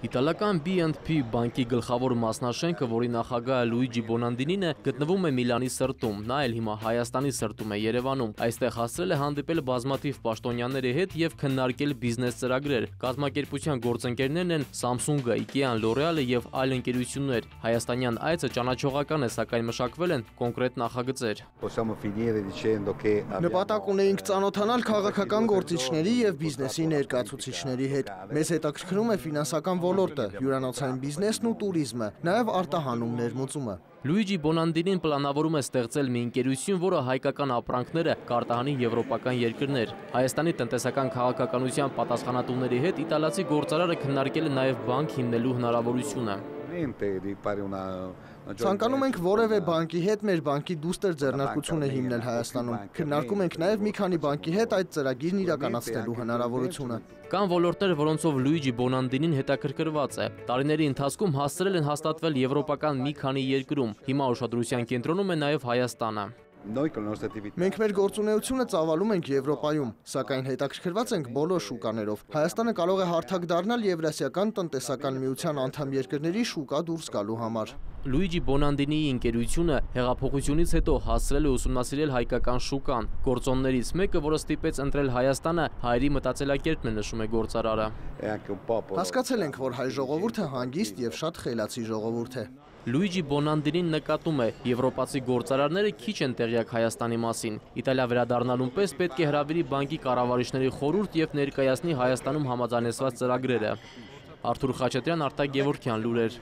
Իտալական BNP բանկի գլխավոր մասնաշենքը, որի նախագահը Լուիջի Բոնանդինին է, գտնվում է Միլանի սրտում, նա էլ հիմա Հայաստանի սրտում է Երևանում։ Այստեղ հասցրել է հանդիպել բազմաթիվ պաշտոնյաների հետ եւ քննարկել բիզնես ծրագրեր։ Կազմակերպության գործընկերներն են Samsung-ը, IKEA-ն, L'Oreal-ը եւ այլ ընկերություններ։ Հայաստանյան այցը ճանաչողական է, սակայն մշակվել են կոնկրետ նախագծեր։ Նպատակ ունեինք ծանոթանալ քաղաքական գործիչների եւ բիզնեսի ներկայացուցիչների հետ։ Մեզ հետաքրքրում է ֆինանսական ոլորտը, հյուրանոցային բիզնեսն ու տուրիզմը, նաև արտահանում ներմուծումը։ Լուիջի Բոնանդինին պլանավորում է ստեղծել մի ընկերություն, որը հայկական ապրանքները կարտահանի եվրոպական երկրներ։ Հայաստանի տնտեսական քաղաքականության պատասխանատուների հետ իտալացի գործարարը քննարկել է նաև բանկ հիմնելու հնարավորությունը։ Ցանկանում ենք որևէ բանկի հետ մեր բանկի դուստր ձեռնարկությունը հիմնել Հայաստանում։ Քննարկում ենք նաև մի քանի բանկի հետ այդ ծրագիրն իրականացնելու հնարավորությունը։ Կան ոլորտներ, որոնցով Լուիջի Բոնանդինին հետաքրքրված է։ Տարիների ընթացքում հասցրել են հաստատվել եվրոպական մի քանի երկրում։ Հիմա ուշադրության կենտրոնում է նաև Հայաստանը։ Մենք մեր գործունեությունը ծավալում ենք Եվրոպայում, սակայն հետաքրքրված ենք բոլոր շուկաներով։ Հայաստանը կարող է հարթակ դառնալ Եվրասիական տնտեսական միության անդամ երկրների շուկա դուրս գալու համար։ Լուիջի Բոնանդինիի ընկերությունը հեղափոխությունից հետո հասցրել է ուսումնասիրել հայկական շուկան։ Գործոններից մեկը, որը ստիպեց ընտրել Հայաստանը, հայերի մտածելակերպն է, նշում է գործարարը։ Հասկացել ենք, որ հայ ժողովուրդը հանգիստ եւ շատ խելացի ժողովուրդ է։ Լուիջի Բոնանդինին նկատում է, եվրոպացի գործարարները քիչ են տեղյակ Հայաստանի մասին։ Իտալիա վերադառնալուն պես պետք է հրավիրի բանկի կառավարիչների խորհուրդ եւ ներկայացնի Հայաստանում համաձայնեցված ծրագրերը։ Արթուր Խաչատրյան, Արտակ Գևորգյան, լուրեր։